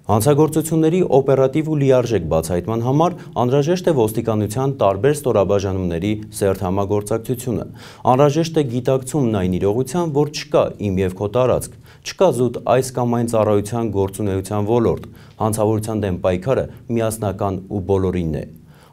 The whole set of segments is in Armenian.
Հանցագործությունների օպերատիվ ու լիարժեք բացահայտման համար անհրաժեշտ է ոստիկանության տարբեր ստորաբաժանումների սերտ համագործակցությունը։ Անհրաժեշտ է գիտակցումն այն իրողության, որ չկա իմ և քո տարածք, չկա զուտ այս կամ այն ծառայության գործունեության ոլորտ, հանցավորության դեմ պայքարը միասնական ու բոլորինն է։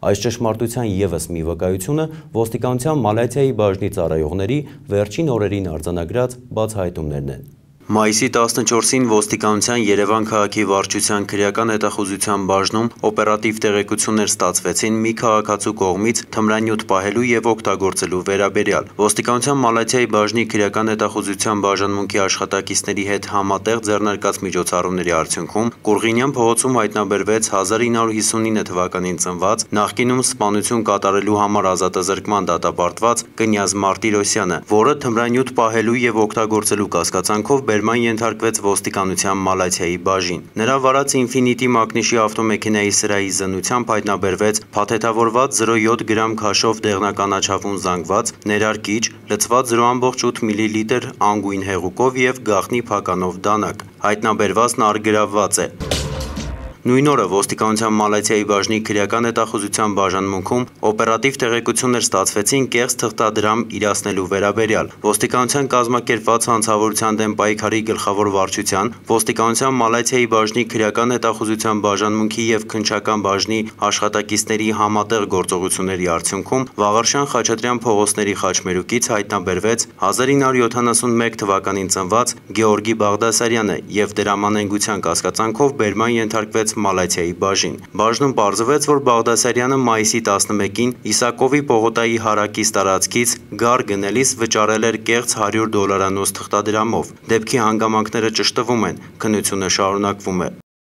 Այս ճշմարտության ևս մի վկայությունը ոստիկանության Մալաթիայի բաժնի ծառայողների վերջին օրերին արձանագրած բացահայտումներն են։ Մայիսի 14-ին ոստիկանության Երևան քաղաքի վարչության քրեական հետախուզության բաժնում օպերատիվ տեղեկություններ ստացվեցին մի քաղաքացու կողմից թմրանյութ պահելու և օգտագործելու վերաբերյալ։ Ոստիկանության Մալաթիայի բաժնի քրեական հետախուզության բաժանմունքի աշխատակիցների հետ համատեղ ձեռնարկած միջոցառումների արդյունքում Կուրղինյան փողոցում հայտնաբերվեց 1959 թվականին ծնված, նախկինում սպանություն կատարելու համար ազատազրկման դատապարտված Կնյազ Մարտիրոսյանը, որը թմրանյութ պահելու և օգտագործելու կասկածանքով բերման ենթարկվեց ոստիկանության Մալաթիայի բաժին։ Նրա վարած Ինֆինիտի մակնիշի ավտոմեքենայի սրահի զննությամբ հայտնաբերվեց փաթեթավորված 0.7 գրամ քաշով դեղնականաչավուն զանգված, ներարկիչ, լցված 0.8 մլ անգույն հեղուկով և գաղտնի փականով դանակ։ Հայտնաբերվածն առգրավված է։ Նույն օրը ոստիկանության Մալաթիայի բաժնի քրեական հետախուզության բաժանմունքում օպերատիվ տեղեկություններ ստացվեցին կեղծ թղթադրամ իրացնելու վերաբերյալ։ Ոստիկանության կազմակերպված հանցավորության դեմ պայքարի գլխավոր վարչության, ոստիկանության Մալաթիայի բաժնի քրեական հետախուզության բաժանմունքի և քննչական բաժնի աշխատակիցների համատեղ գործողությունների արդյունքում Վաղարշան Խաչատրյան փողոցների խաչմերուկից հայտնաբերվեց 1971 թվականին ծնված Գեորգի Բաղդասարյանը և դրամանենգության կասկածանքով բերման ենթարկվեց Մալաթիայի բաժին։ Բաժնում պարզվեց, որ Բաղդասարյանը մայիսի 11-ին Իսակովի պողոտայի հարակից տարածքից գար գնելիս վճարել էր կեղծ $100 թղթադրամով։ Դեպքի հանգամանքները ճշտվում են, քննությունը շարունակվում է։